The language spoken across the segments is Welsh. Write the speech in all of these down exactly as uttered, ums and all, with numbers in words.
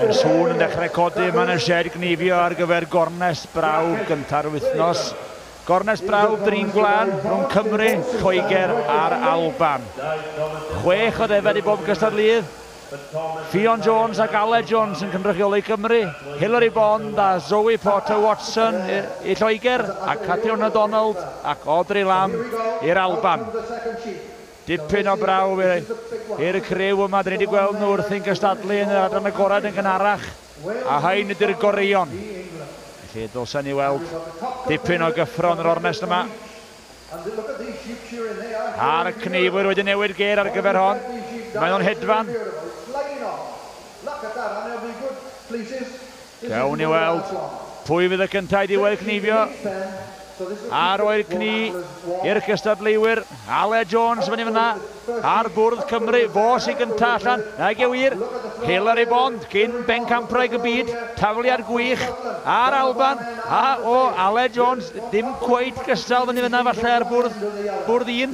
Mae'r sŵn yn dechrau codi yma yn y sied gneifio ar gyfer gornest brawf gynta'r wythnos. Gornest brawf drin gwlan rhwng Cymru, Lloegr a'r Alban. Chwech o ddefed i bob gystadleuydd. Ffion Jones ac Aled Jones yn cynrychioli Cymru, Hilary Bond a Zoe Porter Watson i Lloegr, a Catriona Donald ac Audrey Lamb i'r Alban. Dipyn o brawf i'r criw yma, dyn ni wedi gweld nhw wrthi'n cystadlu yn yr adran agored yn gynharach, a hain ydy'r goreuon. Felly dylsen ni weld dipyn o gyffro yn yr ornest yma. A'r cneifwyr wedi newid gêr ar gyfer hon. Mae nhw'n hedfan. Gawn ni weld pwy fydd y cyntaf i ddiwedd cneifio. A roi'r cni i'r cystadleuwyr. Aled Jones fyny fyna ar bwrdd Cymru. Fo sy'n gyntaf allan. Nag yw wir. Hilary Bond, cyn bencampwraig y byd. Tafliad gwych ar Alban. A o, Aled Jones, ddim cweit gystal fyny fyna falle ar bwrdd, bwrdd un.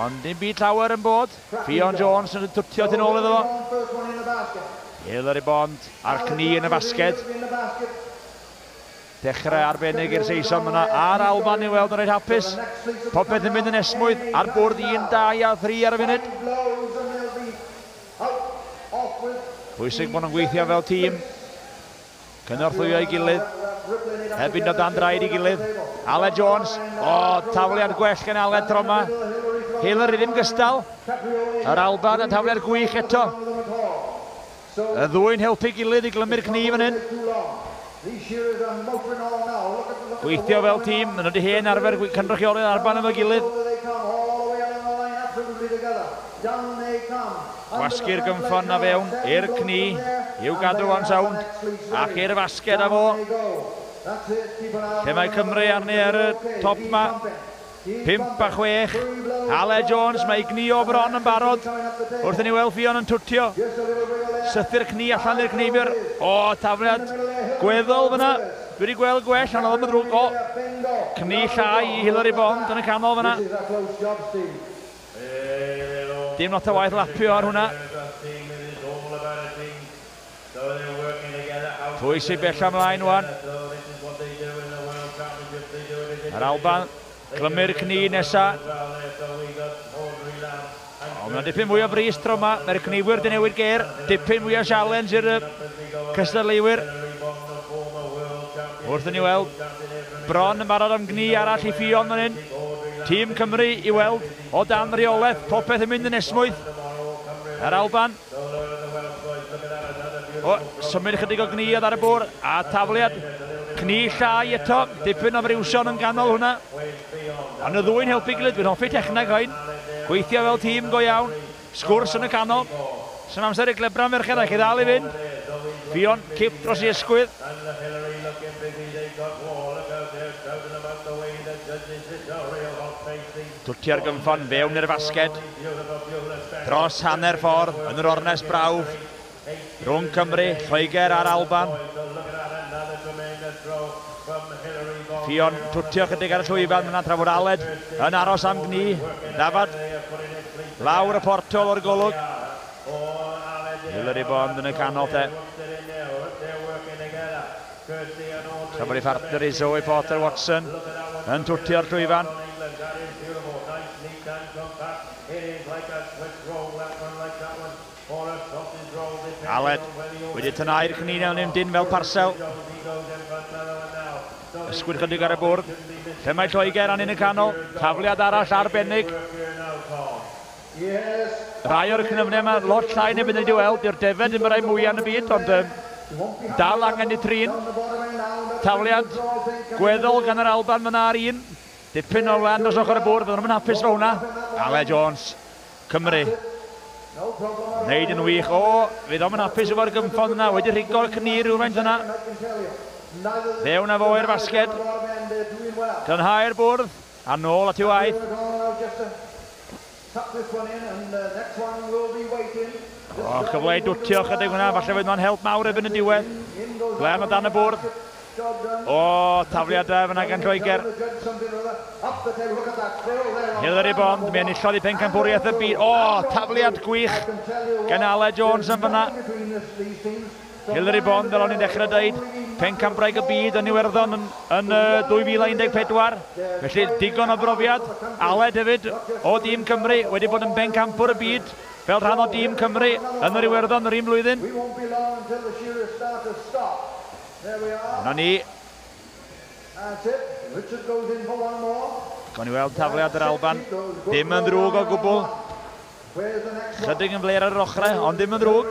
Ond dim byd llawer yn bod. Ffion Jones yn twtio tu ôl iddo fo. Hilary Bond a'r cni yn y fasged. Dechrau arbennig i'r Saeson yna, a'r Alban i weld yn reit hapus. Popeth yn mynd yn esmwyth ar bwrdd un, dau a thri ar y funud. Pwysig bod nhw'n gweithio fel tîm. Cynorthwyo ei gilydd. Heb fynd o dan draed ei gilydd. Aled Jones. O, tafliad gwell gan Aled tro yma. Hilary ddim gystal. Yr Alban yn tafliad gwych eto. Y ddwy'n helpu gilydd i glymu'r cni fan hyn. Gweithio fel tîm, maen nhw wedi hen arfer cynrychioli'r Alban efo'i gilydd. Gwasgu'r gynffon na fewn i'r cni, i'w gadw o'n sownd, ac i'r fasged â fo. Lle mae Cymru arni ar y top ma. Pump a chwech. Aled Jones, mae ei gnio bron yn barod. Wrth i ni weld Ffion yn twtio. Sythu'r cni allan i'r cneifiwr. O, tafliad gweddol fyna. Dwi wedi gweld gwell, ond oedd yn ddrwg. O, cni llai i Hilary Bond yn y canol fyna. Dim lot o waith lapio ar hwnna. Pwy sy'n bell ymlaen wan? Yr Alban. Glymu'r cni nesa. O, mae'n dipyn mwy o bris tro yma. Mae'r cneiwyr wedi newid gêr. Dipyn mwy o challenge i'r cystadleuwyr. Wrth i ni weld bron yn barod am gni arall i Ffion fan hyn. Tîm Cymru i weld o dan reolaeth. Popeth yn mynd yn esmwyth. Yr Alban. O, symud chydig o gni oedd ar y bwrdd. A tafliad cni llai eto. Dipyn o friwsion yn ganol hwnna. Ond y ddwy'n helpu gilydd, dwi'n hoffi techneg hyn. Gweithio fel tîm go iawn. Sgwrs yn y canol. Sy'n amser i glebran merched, a chi ddal i fynd. Ffion, cip dros i ysgwydd. Twtio'r gynffon fewn i'r fasged. Dros hanner ffordd yn yr ornest brawf. Rhwng Cymru, Lloegr a'r Alban. Ffion twtio chydig ar y llwyfan yna tra fod Aled yn aros am gni. Dafad lawr y portol o'r golwg. Hilary Bond yn y canol te. Tra bod ei phartner i Zoe Porter Watson yn twtio'r llwyfan. Aled wedi tynnu'r cni mewn dyn fel parsel. Ysgwyd chydig ar y bwrdd. Lle mae Lloegr arni yn y canol. Tafliad arall arbennig. Rai o'r cnyfnau yma, lot llai neu beth ni wedi weld. Dyw'r defed ddim y rai mwyaf yn y byd, ond um, dal angen i trin. Tafliad gweddol gan yr Alban fyna ar un. Dipyn o lan dros ochr y bwrdd, fydden nhw'n hapus fo hwnna. Aled Jones, Cymru. Neud yn wych. O, fydd o'm yn hapus efo'r gynffon yna. Wedi rhigo'r cni rhywfaint yna. Fewn â fo i'r fasged. Glanhau'r bwrdd. A nôl at ei waith. O, cyfle i dwtio chydig hwnna. Falle fydd nhw'n help mawr erbyn y diwedd. Glen o dan y bwrdd. O, tafliadau fyna gan Lloegr. Hilary Bond, mi enillodd i pencampwriaeth y byd. O, tafliad gwych gan Aled Jones yn fyna. Hilary Bond, fel o'n i'n dechrau dweud, pencampwraig y byd yn Iwerddon yn, yn uh, dwy fil a un deg pedwar. Felly digon o brofiad. Aled hefyd o dîm Cymru wedi bod yn bencampwr y byd fel rhan o dîm Cymru yn yr Iwerddon yr un blwyddyn. Yna ni. Gawn ni weld tafliad yr Alban. Dim yn ddrwg o gwbl. Chydig yn fler ar yr ochrau, ond dim yn ddrwg.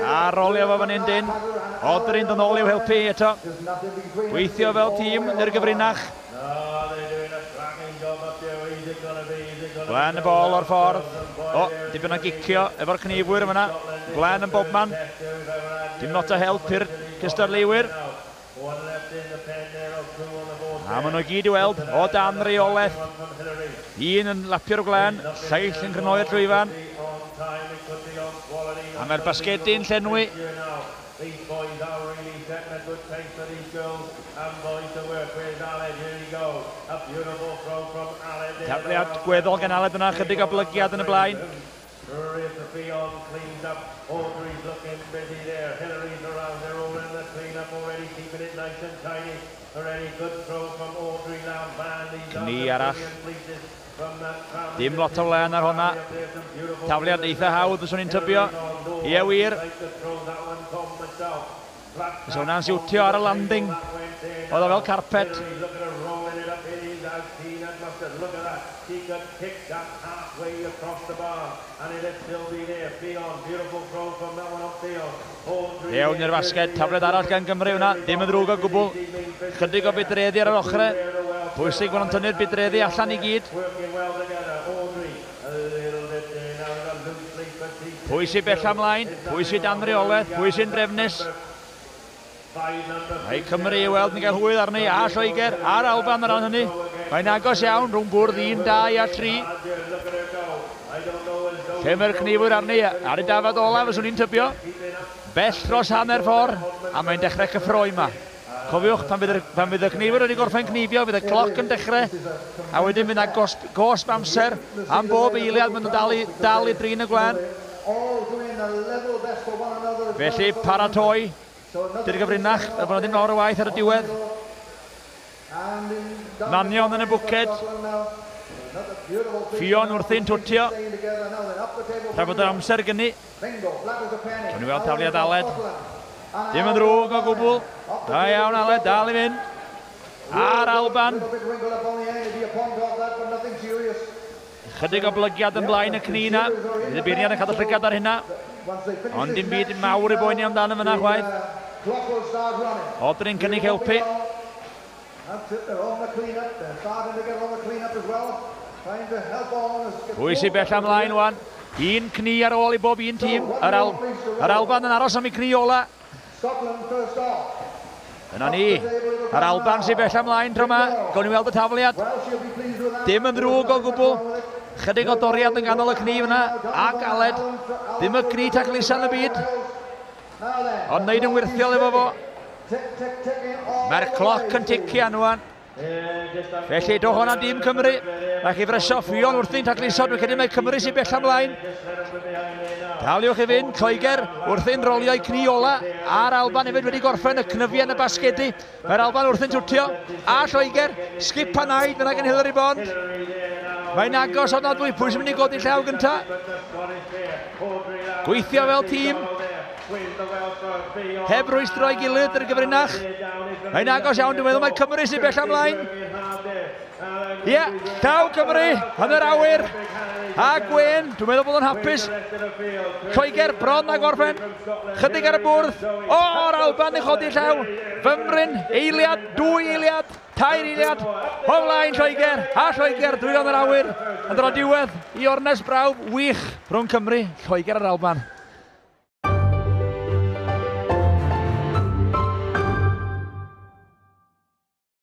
A rolio fo fan hyn dyn. Audrey'n dod nôl i'w helpu eto. Gweithio fel tîm i'r gyfrinach. Glen y bol o'r ffordd. O, dipyn o gicio efo'r cnifwyr yma. Glen yn bobman. Dim lot o help i'r cystadleuwyr. A maen nhw gyd i weld o dan reolaeth. Un yn lapio'r glen, lleill yn crynhoi'r llwyfan. A mae'r basgedi'n llenwi. Tafliad gweddol gan Aled yna, chydig o blygiad yn y blaen. Cni arall. Dim lot o wlen ar hwnna. Tafliad eitha hawdd, fyswn i'n tybio. Ie wir. Fysa hwnna'n siwtio ar y landing. Oedd o fel carpet. Iawn i'r fasged, tafliad arall gan Gymru hwnna, dim yn ddrwg o gwbl. Chydig o bydreddi ar yr ochrau. Pwysig bod nhw'n tynnu'r bydreddi allan i gyd. Pwy sy'n bella ymlaen, pwy sy'n dan reolaeth, pwy sy'n drefnus. Mae Cymru i weld yn cael hwyl arni, a Lloegr, a'r Alban ar ran hynny. Mae'n agos iawn rhwng bwrdd un, dau a tri. Lle mae'r cnifwyr arni, ar y dafad olaf, fyswn i'n tybio. Bell dros hanner ffordd, a mae'n dechrau cyffroi yma. Cofiwch, pan fydd, pan fydd y cnifwyr wedi gorffen cnifio, fydd y cloc yn dechrau, a wedyn fydd yna gosb, gosb amser am bob eiliad, maen nhw'n dal i, dal i drin y gwlân. Felly, paratoi. Dy'r gyfrinach, fel bod yna ddim lawr o waith ar y diwedd. Manion yn y bwced. Ffion wrthi'n twtio. Tra bod yr amser gynnu. Gawn ni weld tafliad Aled. Dim yn ddrwg o gwbl. Da iawn Aled, dal i fynd. A'r Alban. Chydig o blygiad yn blaen y cni na. Bydd y beirniad yn cadw llygad ar hynna. Ond dim byd mawr i boeni amdano fyna chwaith. Audrey'n cynnig helpu. Pwy sy'n bell ymlaen wan? Un cni ar ôl i bob un tîm. Yr, Al yr Alban yn aros am ei cni ola. Yna ni. Yr Alban sy'n bell ymlaen tro yma. Gawn ni weld y tafliad. Dim yn ddrwg o gwbl. Chydig o doriad yn ganol y cni fyna. Ac Aled. Dim y cni taclusa yn y byd. Ond wneud yn wirthiol efo fo. Mae'r cloc yn tician wan. Felly, do hwnna dîm Cymru. Rhaid chi fresio Ffion wrthi'n tacluso. Dwi'n credu mai Cymru sy'n bell ymlaen. Daliwch i fynd, Lloegr wrthi'n rolio'i cni ola. A'r Alban hefyd wedi gorffen y cnyfiau yn y basgedi. Mae'r Alban wrthi'n twtio. A Lloegr, sgip a naid fyna gan Hilary Bond. Mae'n agos ofnadwy. Pwy sy'n mynd i godi llaw gynta? Gweithio fel tîm. Heb rwystro ei gilydd yr gyfrinach. Mae'n agos iawn, dwi'n meddwl mae Cymru sy'n bell ymlaen. Ie, yeah, llaw Cymru yn yr awyr. A Gwen, dwi'n meddwl bod o'n hapus. Lloegr bron a gorffen. Chydig ar y bwrdd. O, o'r Alban yn chodi llaw. Fymryn, eiliad, dwy eiliad, tair eiliad. O flaen Lloegr, a Lloegr, dwylo yn yr awyr. Yn dod o diwedd i ornest brawf wych rhwng Cymru, Lloegr a'r Alban.